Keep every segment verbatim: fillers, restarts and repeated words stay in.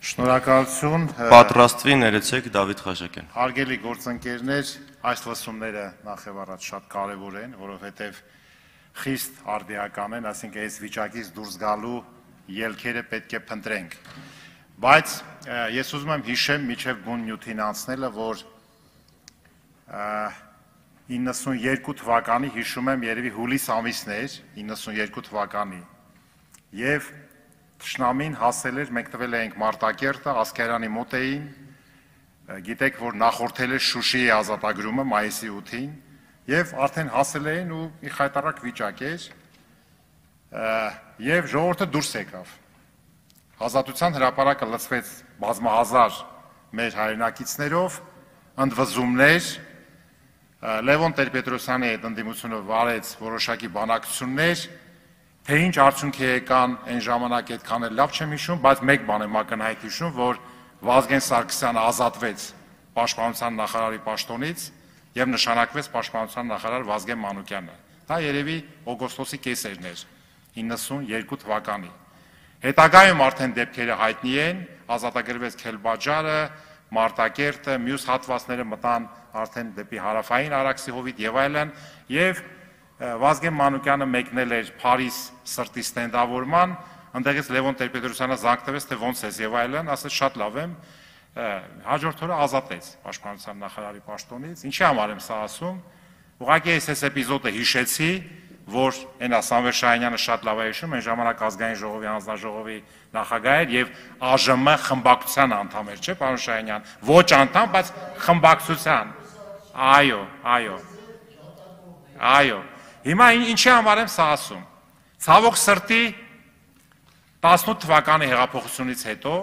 Շնորհակալություն Պատրաստվի ներեցեք Դավիթ Խաչակյան։ Հարգելի գործընկերներ, այս լսումները նախ եւ առաջ շատ կարեւոր են, որովհետեւ խիստ արդիական են, ասենք այս վիճակից դուրս գալու ելքերը պետք է փնտրենք։ Բայց ես ուզում եմ հիշեմ միջև բուն նյութին անցնելը, որ իննսունյերկու թվականի հիշում եմ երևի հուլիս ամիսն էր, իննսունյերկու թվականի, եւ Թշնամին հասել էր, մենք տվել էինք Մարտակերտը, Ասկերանի մոտ էին, գիտեք, որ նախորդել է Շուշիի ազատագրումը մայիսի ութին, եւ արդեն հասել էին ու մի խայտարակ վիճակ էր, եւ ժողովուրդը դուրս եկավ։ Ազատության հրապարակը լցվեց բազմահազար մեր հայրենակիցներով, ընդվզումներ, Լևոն Տեր-Պետրոսյանի հետ ընդդիմությունը վարեց որոշակի բանակցություններ, թե ինչ արդյունք եկան այն ժամանակ այդքան էլ լավ չեմ հիշում, բայց մեկ բան եմ ակնհայտ հիշում, որ Վազգեն Սարգսյանը ազատվեց պաշտպանության նախարարի պաշտոնից եւ նշանակվեց պաշտպանության նախարար Վազգեն Մանուկյանը։ Դա երևի օգոստոսի կեսերն էր իննսունյերկու թվականի։ Հետագայում արդեն դեպքերը հայտնի են, ազատագրվեց Քելբաջարը, Մարտակերտը, մյուս հատվածները մտան արդեն դեպի հարավային Արաքսի հովիտ եւ այլն, եւ Վազգեն Մանուկյանը մեկնել էր Փարիզ սրտի ստենդավորման, ընդեղից Լևոն Տեր-Պետրոսյանը զանգվեց, թե ոնց ես եւ այլն, ասաց շատ լավ եմ, հաջորդ օրը ազատեց պաշտպանության նախարարի պաշտոնից։ Ինչի համար եմ սա ասում, ուղղակի ես այս էպիզոդը հիշեցի, որ այնա Սամվել Շահինյանը շատ լավ է հիշում, այն ժամանակ ազգային ժողովի հանձնաժողովի նախագահ էր եւ ԱԺՄ խմբակցության անդամ էր, չէ՞, պարոն Շահինյան, ոչ անդամ, բայց խմբակցության։ Այո, այո։ Այո։ Հիմա ինչի համար եմ սա ասում։ Ցավոք սրտի տասնութ թվականի հեղափոխությունից հետո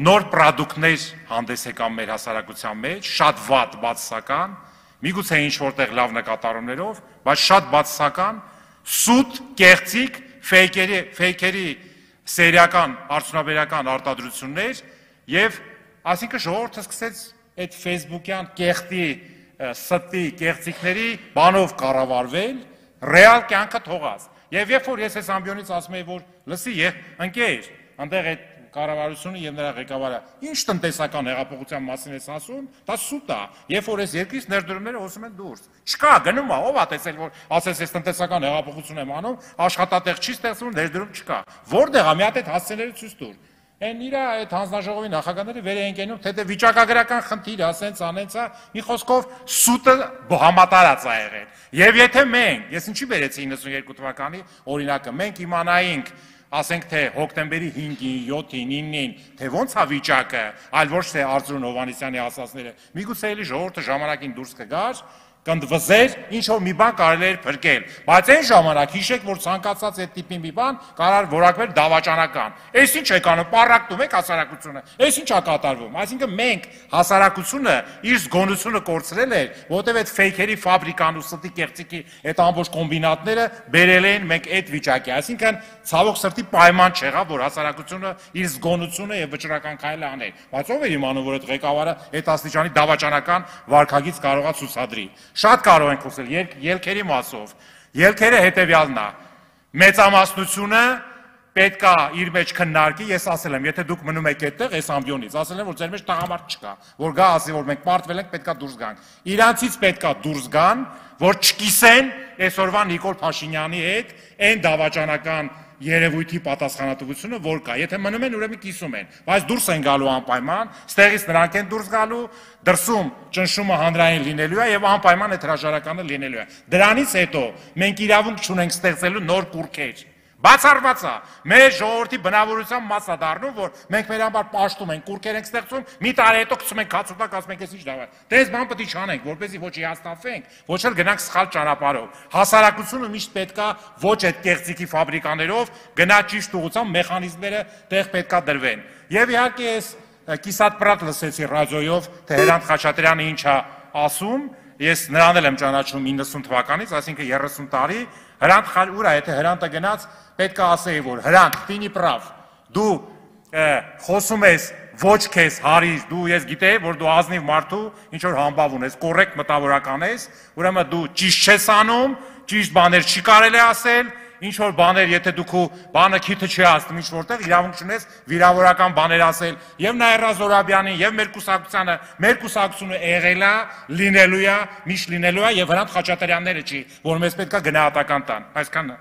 նոր պրոդուկտներ հանդես եկան մեր հասարակության մեջ, շատ վատ բացասական, միգուցե ինչ որտեղ լավ նկատառումներով, բայց շատ բացասական, սուտ, կեղծիք, ֆեյքերի, ֆեյքերի սերիական, արդյունաբերական արտադրություններ եւ այսինքն ժողովուրդը սկսեց այդ Facebook-յան կեղտի ստի կեղծիքների բանով կառավարվել, ռեալ կյանքը թողած։ Եվ երբ որ ես այս ամբիոնից ասում եմ, որ լսի, եւ ընկեր, այնտեղ այդ կառավարությունը եւ նրա ղեկավարը ինչ տնտեսական հեղափոխության մասին է ասում, դա սուտ է։ Երբ որ այս երկրից ներդրումները հոսում են դուրս։ Չկա, գնում է, ով է տեսել, որ ասես ես տնտեսական հեղափոխություն եմ անում, աշխատատեղ չի ստեղծվում, ներդրում չկա։ Որտեղ է, մի հատ այդ հասցեները ցույց տուր։ Այն իրա այդ հանձնաժողովի նախագահները վեր են կենում, թե դե վիճակագրական խնդիր, ասենց անենց է, մի խոսքով սուտը համատարած է եղել։ Եվ եթե մենք, ես ինչի բերեցի իննսունյերկու թվականի օրինակը, մենք իմանայինք, ասենք թե հոկտեմբերի հինգին, յոթին, իննին, թե ոնց է վիճակը, այլ ոչ թե Արծրուն Հովհաննիսյանի ասածները, միգուցե էլի ժողովուրդը ժամանակին դուրս կգար, կընդվզեր, ինչ որ մի բան կարելի էր փրկել, բայց այն ժամանակ հիշեք, որ ցանկացած այդ տիպի մի բան կարող որակվել դավաճանական։ Այս ինչ եք անում, պարակտում եք հասարակությունը, այս ինչ է կատարվում։ Այսինքն մենք հասարակությունը իր զգոնությունը կորցրել էր, որովհետև այդ ֆեյքերի ֆաբրիկան ու ստի կեղծիքի այդ ամբողջ կոմբինատները բերել են մենք այդ վիճակի։ Այսինքն ցավոք սրտի պայման չեղավ, որ հասարակությունը իր զգոնությունը եւ վճռական քայլը աներ։ Բայց ով էր իմանում, որ այդ ղեկավարը այդ աստիճանի դավաճանական վարքագիծ կարողա ցուցադրի։ Շատ կարող ենք խոսել ելքերի մասով։ Ելքերը հետևյալն է։ Մեծամասնությունը պետք է իր մեջ քննարկի, ես ասել եմ, եթե դուք մնում եք այդտեղ, այս ամբիոնից, ասել եմ, որ ձեր մեջ տղամարդ չկա, որ գա ասի, որ մենք պարտվել ենք, պետք է դուրս գանք։ Իրանցից պետք է դուրս գան, որ չկիսեն այսօրվա Նիկոլ Փաշինյանի հետ այն դավաճանական երևույթի պատասխանատվությունը, որ կա։ Եթե մնում են, ուրեմն կիսում են, բայց դուրս են գալու անպայման, ստեղից նրանք են դուրս գալու, դրսում ճնշումը հանրային լինելու է եւ անպայման այդ հրաժարականը լինելու է։ Դրանից հետո մենք իրավունք չունենք ստեղծելու նոր կուրքեր։ Բացառված է, մեր ժողովրդի բնավորության մաս է դառնում, որ մենք մեր համար պաշտում ենք, կուրքեր ենք ստեղծում, մի տարի հետո գցում ենք հացուտակ, ասում ենք, ես ինչ դավա։ Դե այս բան պետք է չանենք, որպեսզի ոչ հիասթափվենք, ոչ էլ գնանք սխալ ճանապարհով։ Հասարակությունը միշտ պետք է ոչ այդ կեղծիքի ֆաբրիկաներով գնա ճիշտ ուղղությամբ մեխանիզմները տեղ պետք է դրվեն։ Եվ իհարկե ես կիսատ պրատ լսեցի ռադիոյով, թե Հրանտ Խաչատրյանը ինչ է ասում, ես նրան էլ եմ ճանաչում իննսուն թվականից, այսինքն երեսուն տարի, Հրանտ ուր է, եթե Հրանտը գնաց, պետք է ասեի, որ Հրանտ, տինի պրավ, դու խոսում ես ոչ քեզ հարիր, դու ես գիտեի, որ դու ազնիվ մարդու ինչ որ համբավ ունես, կոռեկտ մտավորական ես, ուրեմն դու ճիշտ չես անում, ճիշտ բաներ չի կարելի ասել, ինչ որ բաներ, եթե դու քո բանը քիթը չի հասնում ինչ որտեղ, իրավունք ունես վիրավորական բաներ ասել եւ Նաիրա Զորաբյանին եւ մեր կուսակցությանը, մեր կուսակցությունը եղել է, լինելու է, միշտ լինելու է եւ Հրանտ Խաչատրյանները չի, որ մեզ պետքա գնահատական տան։ Այսքանը։